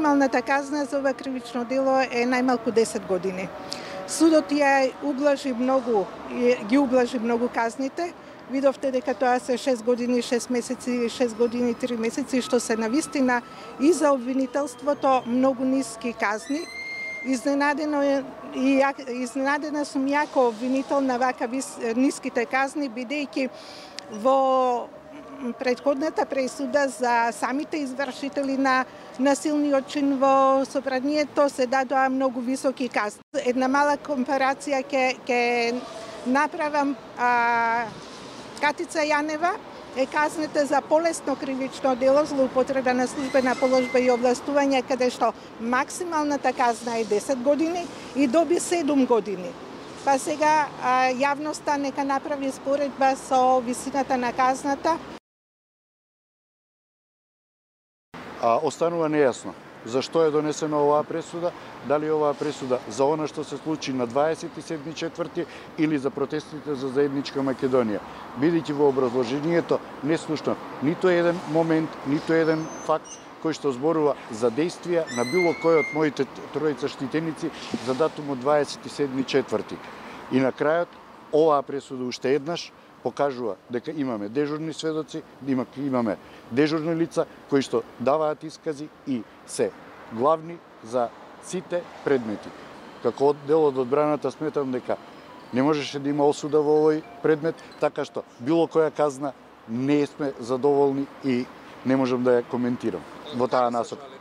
максималната казна за ова кривично дело е најмалку 10 години. Судот ги ублажи многу казните. Видовте дека тоа се 6 години, 6 месеци, 6 години, 3 месеци, што се навистина и за обвинителството многу ниски казни. Изненадена сум јако обвинител на вака ниските казни, бидејќи во претходната пресуда за самите извршители на насилниот чин во собранието се дадоа многу високи казни. Една мала компарација ќе направам. Катица Јанева е казната за полесно кривично дело, злоупотреба на службена положба и овластување, каде што максималната казна е 10 години и доби 7 години. Па сега јавноста нека направи споредба со висината на казната. Останува нејасно зашто е донесена оваа пресуда, дали оваа пресуда за она што се случи на 27.4. или за протестите за заедничка Македонија. Бидејќи во образложението не слушнав ниту еден момент, ниту еден факт кој што зборува за действија на било кој од моите тројца штитеници за датумот 27.4. И на крајот, оваа пресуда уште еднаш покажува дека имаме дежурни сведоци, имаме дежурни лица кои што даваат искази и се главни за сите предмети. Како дел од одбраната сметам дека не можеше да има осуда во овој предмет, така што било која казна не сме задоволни и не можам да ја коментирам во таа насока.